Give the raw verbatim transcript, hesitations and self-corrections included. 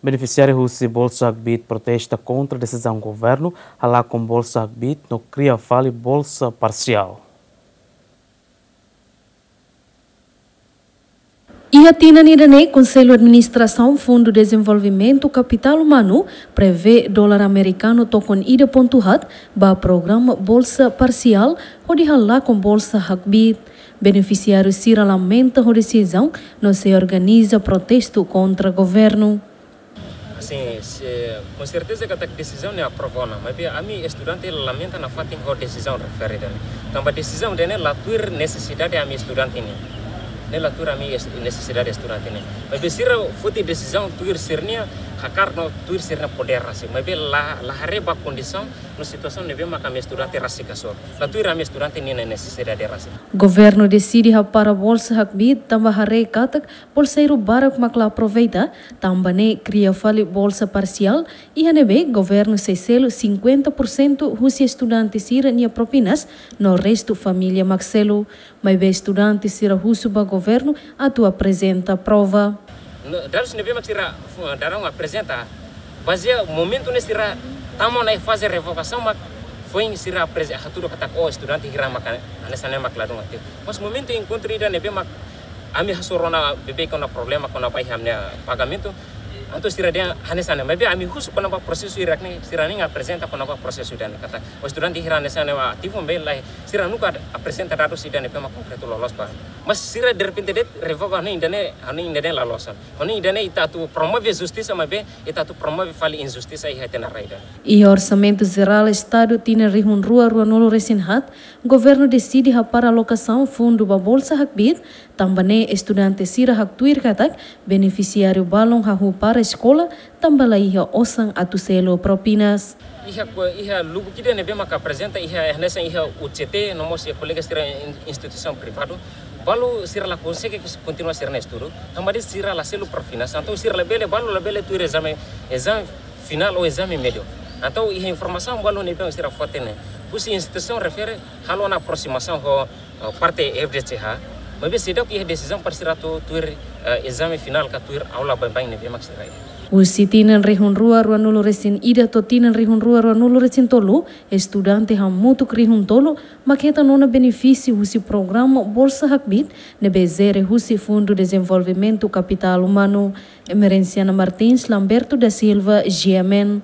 Benefisiáriu husi Bolsa Hakbiit protesta kontra desizaun governu halakon Bolsa Hakbiit no kria fali bolsa parsiál. Iha tinan ida-ne'e, Konsellu Administrasaun Fundu Dezenvolvimentu Kapitál Umanu prevee dolar amerikanu tokon ida pontu haat ba programa bolsa parsiál hodi halakon Bolsa Hakbiit. Benefisiáriu sira lamenta ho desizaun no sei organiza protestu kontra governu. Sin, sin, konserteza katak desizaun ne'e aprova ona, maibé ami estudante lamenta nafatin ho desizaun refere ida-ne'e. Tanba desizaun ida-ne'e la tuir nesesidade ami estudante nian. Ne'e la tuir ami es-, nesesidade estudante nian. Maibé sira foti desizaun tuir sira-nia hakarak no tuir sira-nia podér rasik. Maibé la, la haree ba kondisaun no situasaun ne'ebé mak ami estudante rasik hasoru. La tuir ami estudante nian nesesidade rasik. Governu deside hapara Bolsa Hakbiit tanba haree katak bolseiru barak mak la aproveita, tanba ne'e kria fali bolsa parsiál, iha ne'ebé governu sei selu cinquenta por cento husi estudante sira-nia propinas, no restu família mak selu. Maibé estudante sira husu ba governu atu aprezenta prova. No, dadus ne'ebé mak sira, eh, daudaun aprezenta, bazeia momentu ne'e sira tama ona iha faze revogasaun mak foin sira apreze-, hatudu katak, oh, estudante hira mak hanesan ne'e mak ladún ativu. Mas momentu enkontru ida ne'ebé mak ami hasoru ona beibeik ona problema kona-ba iha ami-nia pagamentu. Entaun sira dehan hanesan ne'e, maibé ami husu kona-ba prosesu hirak ne'e, sira nunka aprezenta kona-ba prosesu ida-ne'e katak, oh, estudante hira hanesan ne'e mak ativu, maibé lae, sira nunka aprezenta dadus ida ne'ebé mak konkretu loloos ba. Mas sira derrepente de'it revoga, hanoin ida-ne'e, hanoin ida-ne'e la loos ona. Hanoin ida-ne'e ita atu promove justisa, maibé ita atu promove fali injustisa iha ita-nia rai ida. Iha Orsamentu Jerál Estadu tinan rihun rua ruanulu resin haat, governu deside hapara alokasaun fundu ba Bolsa Hakbiit, tanba ne'e estudante sira haktuir katak benefisiáriu balun hahú para eskola, tanba la iha osan atu selu propinas. Iha ko-, iha lubuk ida ne'ebé maka aprezenta iha, hanesan iha U C T, no mós iha kolega sira in-, instituisaun privadu. Balu sira la konsege kontinua sira-nia estudu, tanba de'it sira la selu propinas, entaun sira labele, balu labele tuir ezame, ezame finál ou ezame médiu. Entaun iha informasaun balu ne'ebé sira fó tiha ne'e, husi instituisaun refere halo ona aprosimasaun ho, eh, parte F D C H, maibé seidauk iha desizaun para sira atu tuir, eh, ezame finál ka tuir aula baibain ne'ebé mak sira iha. Husi tinan rihun rua ruanulu resin ida to'o tinan rihun rua ruanulu resin tolu, estudante hamutuk rihun tolu mak hetan ona benefísiu husi programa Bolsa Hakbiit ne'ebé jere husi Fundu Dezenvolvimentu Kapitál Umanu. Emerenciana Martins, Lamberto da Silva, G M N.